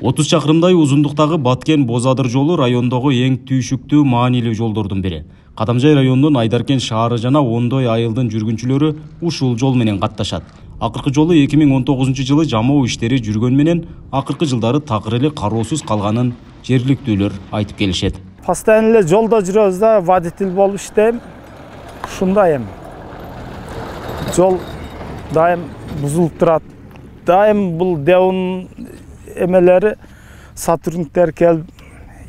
30 чакырымдай узундуктагы Баткен-Бозадыр жолу райондогу эң түйшүктүү маанилүү жолдордун бири. Кадамжай районунун Айдаркен шаары жана ондой айылдын жүргүнчүлөрү ушул жол менен катташат. Акыркы жолу 2019-жылы жамоо иштери жүргөн менен акыркы жылдары такыр эле кароосуз калганын жергиликтүүлөр айтып келишет. Постоянно эле жолдо жүрөбүз да, водитель болуп иштейм. Ушундай эми. Жол дайым бузулуп турат. Дайым бул Девун эмелери сотрудниктер келип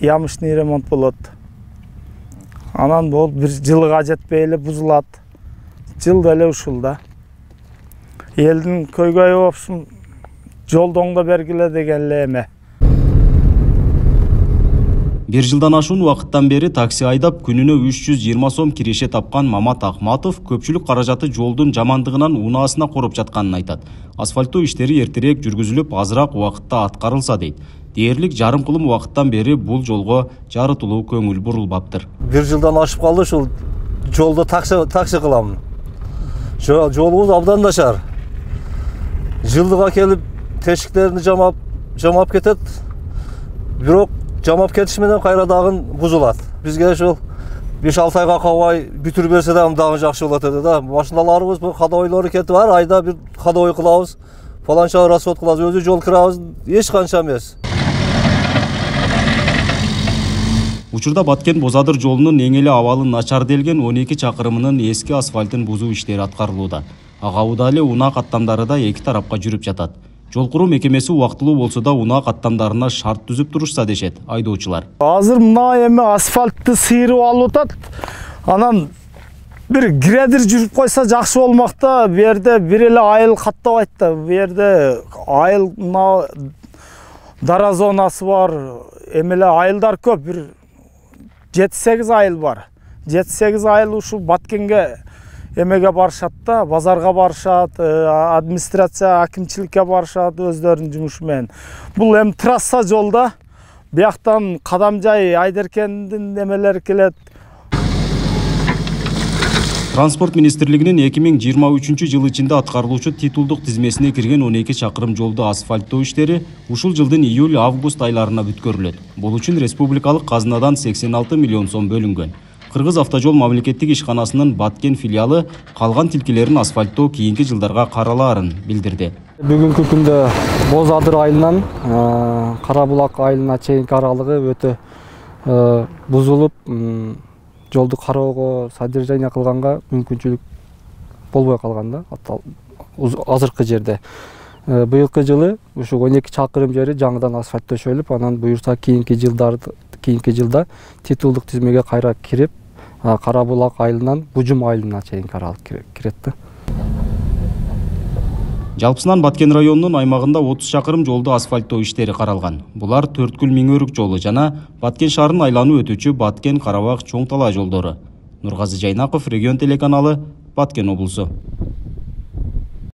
ямышный ремонт болот. Анан бул бир жылга жетпей эле бузулат. Жылда эле ушул да. Элдин көйгөйү болсун, жолду оңдоп бергиле деген эле эме. Бир жылдан ашуун убакыттан бери такси айдап күнүнө 320 сом киреше тапкан Мамат Акматов көпчүлүк каражаты жолдун жамандыгынан унаасына короп жатканын айтат. Асфальттоо иштери эртерээк жүргүзүлүп, азыраак убакытта аткарылса дейт. Дээрлик жарым кылым убакыттан бери бул жолго жарытылуу көңүл бурулбаптыр. Бир жылдан ашып калды, ушул жолдо такси кылам. Жолубуз абдан начар. Жылдыга келип тешиктерин жамап кетет. Бирок жамап кетиш менен кайра дагы бузулат. Бизге ошол 5-6 айга калбай бүтүрүп берсе дагы жакшы болот эди да. Машиналарыбыз ходовойлору кетип бар, айда бир ходовой кылабыз, фаланча расход кылабыз, өзү жол кирабыз, эч канча эмес. Учурда Баткен-Бозадыр жолунун эң эле абалы начар делген 12 чакырымынын эски асфальтын бузуу иштери аткарылууда. Агабыда эле унаа каттамдары да эки тарапка жүрүп жатат. Жол куруу мекемеси убактылуу болсо да унаа каттамдарына шарт түзүп турушса дешет айдоочулар. Азыр мына эми асфальтты сыйрып алып атат. Анан бир гредер жүрүп койсо жакшы болмок да. Бу жерде бир эле айыл каттабайт да. Бу жерде айыл мына дара зонасы бар. Эми эле айылдар көп. Бир 7-8 айыл бар. 7-8 айыл ушул Баткенге эмеге барышат да, базарга барышат, администрация, акимчиликке барышат өздөрүнүн жумушу менен. Бул эми трасса жолда, бияктан Кадамжай, Айдаркендин эмелери келет. Транспорт министрлигинин 2023-жылы ичинде аткарылуучу титулдук тизмесине кирген 12 чакырым жолду асфальттоо иштери ушул жылдын июль-август айларына бүткөрүлөт. Бул үчүн республикалык казынадан 86 миллион сом бөлүнгөн. Кыргыз автожол мамлекеттик ишканасынын Баткен филиалы калган тилкелерин асфальттоо кийинки жылдарга каралаарын билдирди. Бүгүнкү күндө Бозадыр айылынан Карабулак айылына чейинки аралыгы өтө бузулуп, жолду кароого, содержание кылганга мүмкүнчүлүк болбой калган да, азыркы жерде. Быйылкы жылы ушу 12 чакырым жери жаңыдан асфальттөшөлүп, анан буюрса кийинки жылда титулдук тизмеге кайра кирип, Карабулак айылынан Бужум айылына чейинки аралык кирет да. Жалпысынан Баткен районунун аймагында 30 чакырым жолду асфальттоо иштери каралган. Булар Төрткүл Миңөрүк жолу жана Баткен шаарын айланып өтүүчү Баткен-Карабак чоң талаа жолдору. Нургазы Жайнаков, Регион телеканалы, Баткен облусу.